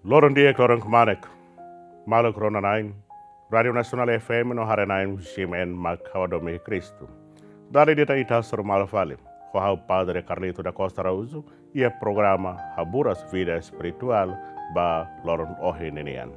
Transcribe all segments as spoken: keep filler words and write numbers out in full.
Loron di'ak, loron kmanek. Maluk rona-na'in, Rádiu Nasionál F M no haree-na'in, G M N mak ha'u hadomi Kristu. Dala ida ita hasoru malu fali ho ha'u Padre Carlito da Costa Araújo iha programa Haburas Vida Espirituál ba loron ohin ninian.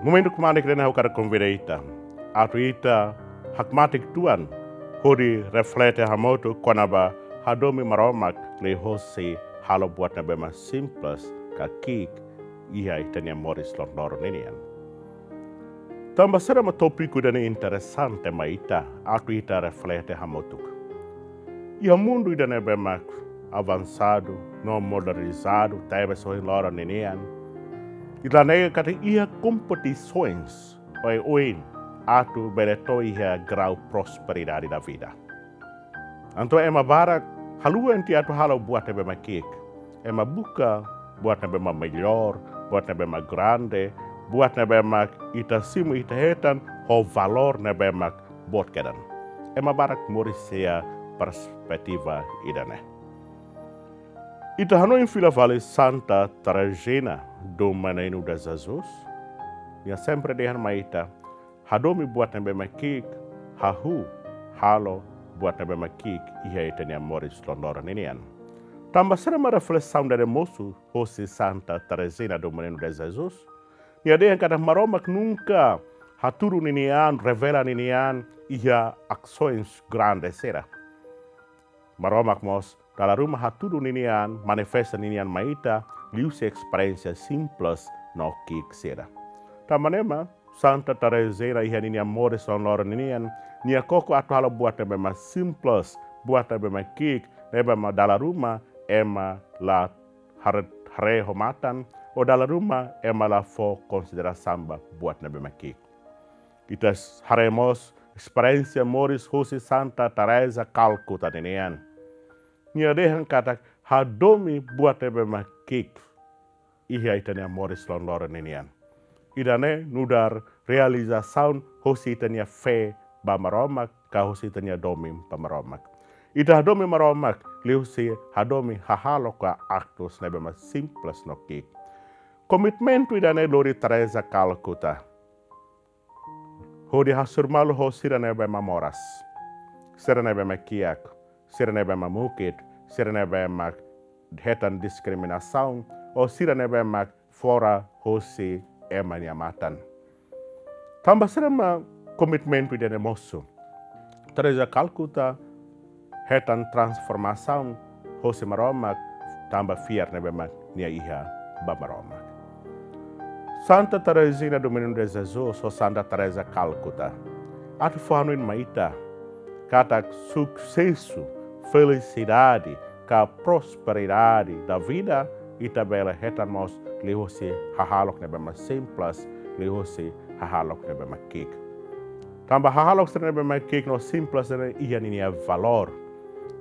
Momentu kmanek ne'e ha'u hakarak konvida ita atu ita hakmatek uitoan hodi reflete hamutuk kona-ba hadomi Maromak liuhosi halo buat ne'ebé mak simples ka ki'ik iha ita-nia moris loron-loron ninian. Tanba saida mak tópiku ida-ne'e interesante mai ita atu ita reflete hamutuk. Iha mundu ida ne'ebé mak avansadu no modernizadu tebes ohin loron ninian, ita haree katak iha kompetisoens oioin atu bele to'o iha grau prosperidade da vida. Entaun ema barak haluha tiha atu halo buat ne'ebé mak ki'ik. Ema buka buat ne'ebé mak mellór, buat ne'ebé mak grande, buat ne'ebé mak ita simu, ita hetan ho valór ne'ebé mak boot kedan. Ema barak moris iha perspetiva ida-ne'e. Ita hanoin fila fali Santa Terezinha do Menino de Jesus. Nia sempre dehan mai ita, hadomi buat ne'ebé mak ki'ik, hahú halo buat ne'ebé mak ki'ik iha ita-nia moris loron-loron ninian. Tanba saida mak reflesaun ida-ne'e mosu hosi Santa Terezinha do Menino de Jesus? Nia dehan katak Maromak nunka hatudu ninia an, revela ninia an iha asoens grande sira. Maromak mós dala ruma hatudu ninia an, manifesta ninia an mai ita liuhusi esperiénsia simples no ki'ik sira. Tanba ne'e mak Santa Terezinha iha ninia moris loron-loron ninian, nia koko atu halo buat ne'ebé mak simples, buat ne'ebé mak ki'ik, ne'ebé mak dala ruma ema la haree, haree ho matan, ou dala ruma ema la fó konsiderasaun ba buat ne'ebé mak ki'ik. Ita haree mós esperiénsia moris hosi Santa Teresa Calcutá ninian. Nia dehan katak hadomi buat ne'ebé mak ki'ik iha ita-nia moris loron-loron ninian. Ida-ne'e nu'udar realizasaun hosi ita-nia fé ba Maromak, ka hosi ita-nia domin ba Maromak. Ita hadomi Maromak liuhusi hadomi hahalok ka aktus ne'ebé mak simples no ki'ik. Komitmentu ida-ne'e lori Teresa Calcutá hodi hasoru malu ho sira ne'ebé mak moras, sira ne'ebé mak kiak, sira ne'ebé mak mukit, sira ne'ebé mak hetan diskriminasaun, ou sira ne'ebé mak fora hosi ema nia matan. Tanba saida mak komitmentu ida-ne'e mosu? Teresa Calcutá hetan transformasaun hosi Maromak tanba fiar ne'ebé mak nia iha ba Maromak. Santa Terezinha do Menino de Jesus ou Santa Teresa Calcutá atu fó hanoin mai ita katak susesu, felisidade ka prosperidade da vida ita bele hetan mós liuhusi hahalok ne'ebé mak simples, liuhusi hahalok ne'ebé mak ki'ik. Tanba hahalok sira ne'ebé mak ki'ik no simples ne'e iha ninia valór.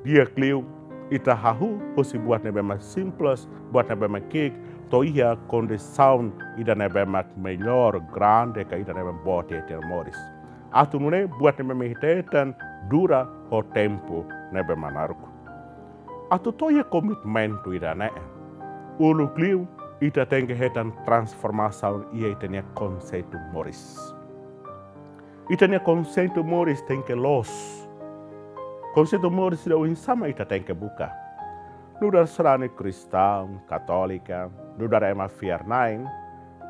Di'ak liu ita hahú husi buat ne'ebé mak simples, buat ne'ebé mak ki'ik, to'o iha kondisaun ida ne'ebé mak mellór, grande ka ida ne'ebé mak boot iha ita-nia moris. Atu nune'e buat ne'ebé mak ita hetan dura ho tempu ne'ebé mak naruk. Atu to'o iha komitmentu ida-ne'e, uluk liu ita tenke hetan transformasaun iha ita-nia konseitu moris. Ita-nia konseitu moris tenke loos. Konseitu moris ida oinsá mak ita tenke buka? Nu'udar sarani kristaun, katólika, nu'udar ema fiar-na'in,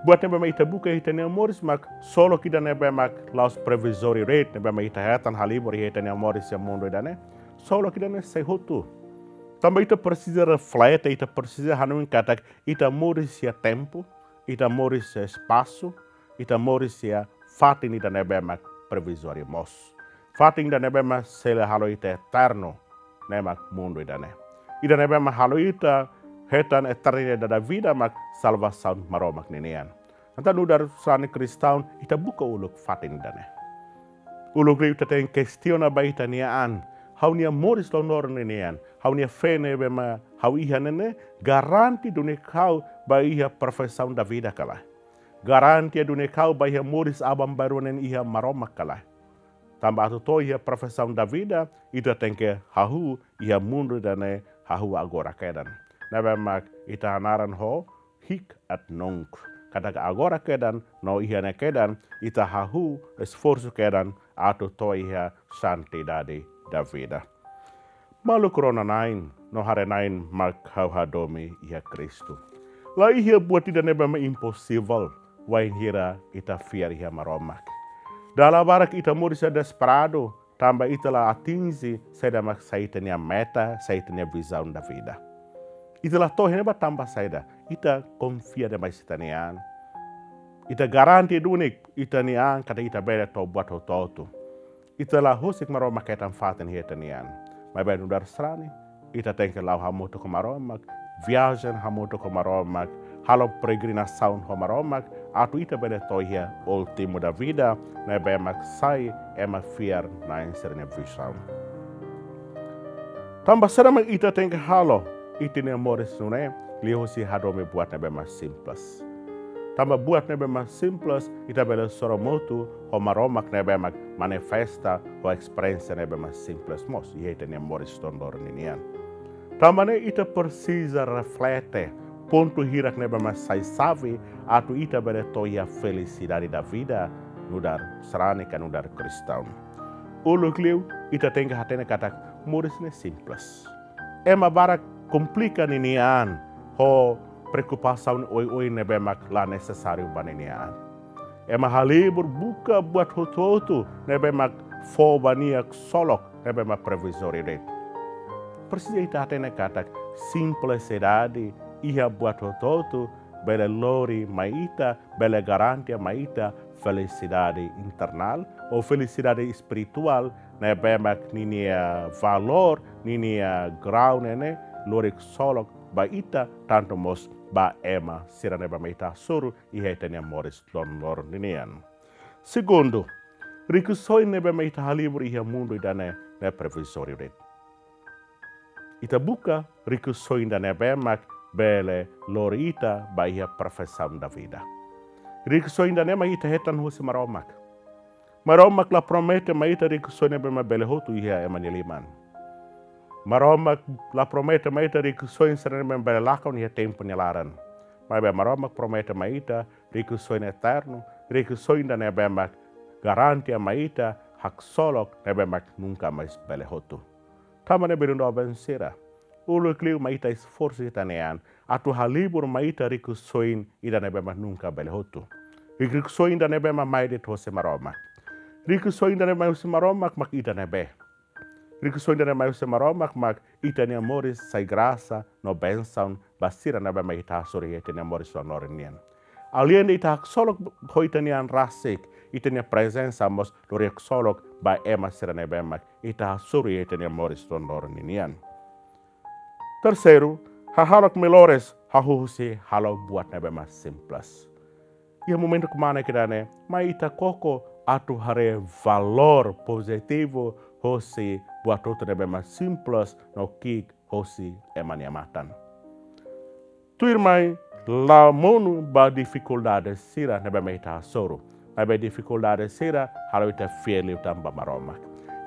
buat ne'ebé mak ita buka iha ita-nia moris mak só loos ida ne'ebé mak la'ós provizóriu de'it, ne'ebé mak ita hetan halibur iha ita-nia moris iha mundu ida-ne'e, só loos ida-ne'e sei hotu. Tanba ita presiza reflete, ita presiza hanoin katak ita moris iha tempu, ita moris iha espasu, ita moris iha fatin ida ne'ebé mak provizóriu mós. Fatin ida ne'ebé mak sei la halo ita eternu, ne'e mak mundu ida-ne'e. Ida ne'ebé mak halo ita hetan eternidade da vida mak salvasaun Maromak ninian. Entaun nu'udar sarani kristaun ita buka uluk fatin ida-ne'e. Uluk liu ita tenke kestiona ba ita-nia an, ha'u-nia moris loron-loron ninian, ha'u-nia fé ne'ebé mak ha'u iha ne'e ne'e garante duni ha'u ba iha perfeição da vida ka lae? Garante duni ha'u ba iha moris aban-bainrua nian iha Maromak ka lae? Tanba atu to'o iha perfeição da vida, ita tenke hahú iha mundu ida-ne'e, hahú agora kedan. ne'ebé mak ita hanaran ho hic et nunc. Katak agora kedan no iha ne'e kedan ita hahú esforsu kedan atu to'o iha santidade da vida. Maluk rona-na'in no haree-na'in mak ha'u hadomi iha Kristu. La iha buat ida ne'ebé mak imposivel wainhira ita fiar iha Maromak. Dala barak ita moris iha desesperadu, tanba ita la atinje saida mak sai ita-nia meta, sai ita-nia vizaun da vida. Ita la to'o iha ne'ebá tanba saida, ita konfia demais ita-nia an. Ita garante duni ita-nia an katak ita bele to'o buat hotu-hotu. Ita la husik Maromak hetan fatin iha ita-nia an. Maibé nu'udar sarani, ita tenke la'o hamutuk ho Maromak, viajen hamutuk ho Maromak, halo peregrinasaun ho Maromak, atu ita bele to'o iha últimu da vida, ne'ebé mak sai ema fiar-na'in sira-nia vizaun. Tanba saida mak ita tenke halo ita-nia moris nune'e, liuhusi hadomi buat ne'ebé mak simples. Tanba buat ne'ebé mak simples, ita bele sorumutu ho Maromak ne'ebé mak manifesta ho esperiénsia ne'ebé mak simples mós iha ita-nia moris loron-loron ninian. Tanba ne'e ita presiza reflete pontu hirak ne'ebé mak sai xave atu ita bele to'o iha felisidade da vida nu'udar sarani ka nu'udar kristaun. Uluk liu ita tenke hatene katak moris ne'e simples. Ema barak komplika ninia an ho preokupasaun oioin ne'ebé mak la nesesáriu ba ninia an. Ema halibur buka buat hotu-hotu ne'ebé mak fó ba nia ksolok ne'ebé mak provizóriu de'it. Presiza ita hatene katak simplisidade iha buat hotu-hotu bele lori mai ita, bele garante mai ita felisidade internál ou felisidade espirituál ne'ebé mak ninia valór, ninia grau ne'e ne'e lori ksolok ba ita, tantu mós ba ema sira ne'ebé mak ita hasoru iha ita-nia moris loron-loron ninian. Segundu, rikusoin ne'ebé mak ita halibur iha mundu ida-ne'e ne'e provizóriu de'it. Ita buka rikusoin ida ne'ebé mak bele lori ita ba iha perfeisaun da vida. Rikusoin ida ne'e mak ita hetan husi Maromak. Maromak la promete mai ita rikusoin ne'ebé mak bele hotu iha ema nia liman. Maromak la promete mai ita rikusoin sira ne'ebé mak bele lakon iha tempu nia laran. Maibé Maromak promete mai ita rikusoin eternu, rikusoin ida ne'ebé mak garante mai ita haksolok ne'ebé mak nunka mais bele hotu. Tanba ne'e belun doben sira, uluk liu mai ita esforsu ita-nia an atu halibur mai ita rikusoin ida ne'ebé mak nunka bele hotu. Rikusoin ida ne'ebé mak mai de'it hosi Maromak. Rikusoin ida ne'ebé mai hosi Maromak mak ida ne'ebé. Rikusoin ida ne'ebé mai hosi Maromak mak ita-nia moris sai grasa no bensaun ba sira ne'ebé mak ita hasoru iha ita-nia moris loron-loron nian. Aleinde ita haksolok ho ita-nia an rasik, ita-nia prezensa mós lori haksolok ba ema sira ne'ebé mak ita hasoru iha ita-nia moris loron-loron ninian. Terseiru, hahalok melhores hahú husi halo buat ne'ebé mak simples. Iha momentu kmanek ida-ne'e, mai ita koko atu haree valór pozitivu hosi buat hotu ne'ebé mak simples no ki'ik hosi ema nia matan. Tuirmai, la monu ba difikuldade sira ne'ebé mak ita hasoru. Maibé difikuldade sira halo ita fiar liután ba Maromak.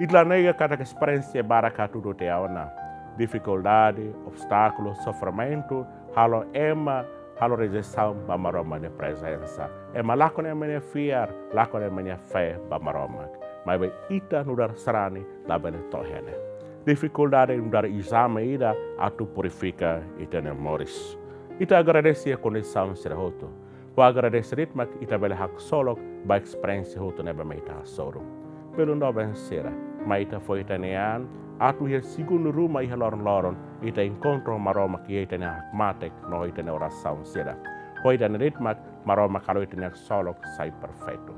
Ita la nega katak esperiénsia barak hatudu tiha ona. Difikuldade, obstákulu, sofrimentu halo ema halo rejeisaun ba Maromak nia prezensa. Ema lakon ema nia fiar, lakon ema nia fé ba Maromak. Maibé ita nu'udar sarani labele to'o iha ne'e. Difikuldade nu'udar ezame ida atu purifika ita-nia moris. Ita agradese iha kondisaun sira hotu. Ho agradese de'it mak ita bele haksolok ba esperiénsia hotu ne'ebé mak ita hasoru. Belun doben sira, mai ita fó ita-nia an atu iha segundu ruma iha loron-loron, ita enkontru ho Maromak iha ita-nia hakmatek no ita-nia orasaun sira. Ho ida-ne'e de'it mak Maromak halo ita-nia haksolok sai perfeitu.